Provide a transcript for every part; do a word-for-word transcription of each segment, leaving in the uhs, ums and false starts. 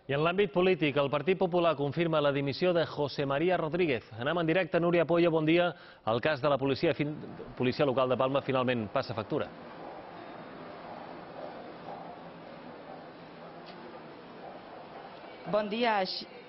I en l'àmbit polític, el Partit Popular confirma la dimissió de José María Rodríguez. Anem en directe, Núria Poyo, bon dia. El cas de la policia, policia local de Palma finalment passa factura. Bon dia.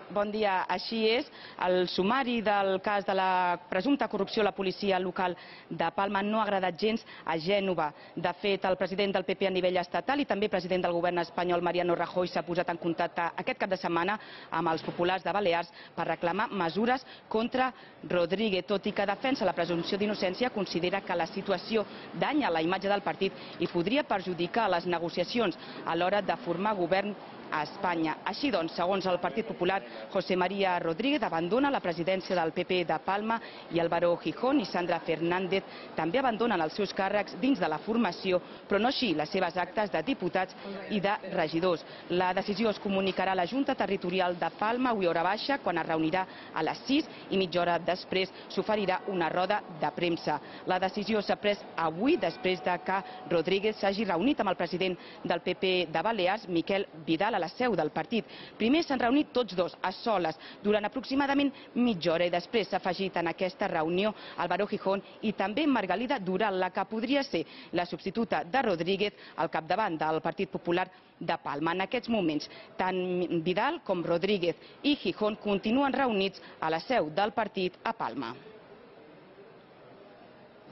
Bon dia, així és. El sumari del cas de la presumpta corrupció a la policia local de Palma no ha agradat gens a Gènova. De fet, el president del P P a nivell estatal i també president del govern espanyol, Mariano Rajoy, s'ha posat en contacte aquest cap de setmana amb els populars de Balears per reclamar mesures contra Rodríguez. Tot i que defensa la presumpció d'innocència, considera que la situació danya la imatge del partit i podria perjudicar les negociacions a l'hora de formar govern a Espanya. Així doncs, segons el Partit Popular, José María Rodríguez abandona la presidència del P P de Palma i Álvaro Gijón i Sandra Fernández també abandonen els seus càrrecs dins de la formació, però no així les seves actes de diputats i de regidors. La decisió es comunicarà a la Junta Territorial de Palma avui hora baixa, quan es reunirà a les sis i mitja hora després s'oferirà una roda de premsa. La decisió s'ha pres avui després de que Rodríguez s'hagi reunit amb el president del P P de Balears, Miquel Vidal, a la seu del partit. Primer s'han reunit tots dos a soles durant aproximadament mitja hora i després s'ha afegit en aquesta reunió Álvaro Gijón i també Margalida Dural, la que podria ser la substituta de Rodríguez al capdavant del Partit Popular de Palma. En aquests moments, tant Vidal com Rodríguez i Gijón continuen reunits a la seu del partit a Palma.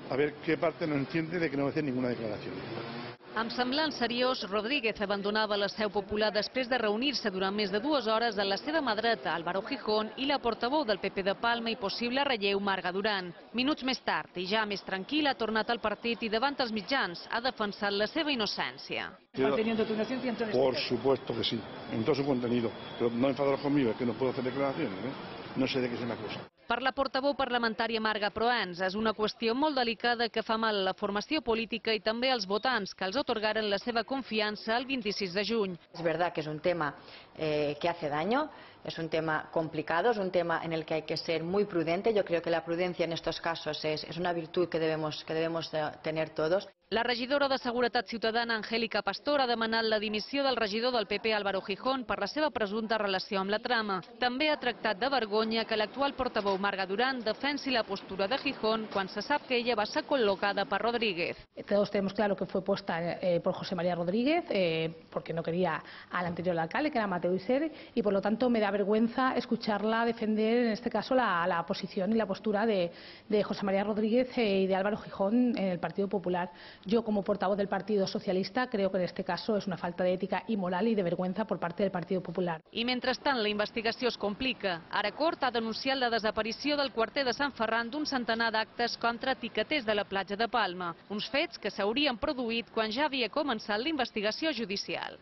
A ver qué parte no entiende de que no va a hacer ninguna declaración. Amb semblant seriós, Rodríguez abandonava la seu popular després de reunir-se durant més de dues hores amb la seva mà dreta, Álvaro Gijón, i la portaveu del P P de Palma i possible relleu, Marga Duran. Minuts més tard, i ja més tranquil, ha tornat al partit i davant els mitjans ha defensat la seva innocència. Por supuesto que sí, en todo su contenido. Pero no enfadaros conmigo, es que no puedo hacer declaraciones, ¿eh? No sé de què se m'acusa. Per la portaveu parlamentària Marga Proens, és una qüestió molt delicada que fa mal a la formació política i també als votants que els atorgaren la seva confiança el vint-i-sis de juny. Es verdad que es un tema eh, que hace daño, es un tema complicado, es un tema en el que hay que ser muy prudente. Yo creo que la prudencia en estos casos es, es una virtud que debemos, que debemos tener todos. La regidora de Seguretat Ciutadana, Angélica Pastor, ha demanat la dimissió del regidor del P P, Álvaro Gijón, per la seva presumpta relació amb la trama. També ha tractat de vergonya que l'actual portaveu Marga Duran defensi la postura de Gijón quan se sap que ella va ser col·locada per Rodríguez. Todos tenemos claro que fue puesta eh, por José María Rodríguez, eh, porque no quería al anterior alcalde, que era Mateo Isser, y por lo tanto me da vergüenza escucharla defender, en este caso, la, la posición y la postura de, de José María Rodríguez eh, y de Álvaro Gijón en el Partido Popular. Yo, como portavoz del Partido Socialista, creo que en este caso es una falta de ética y moral y de vergüenza por parte del Partido Popular. I mentrestant, la investigació es complica. Ara Cort ha denunciat la desaparició del quarter de Sant Ferran d'un centenar d'actes contra etiqueters de la platja de Palma, uns fets que s'haurien produït quan ja havia començat la investigació judicial.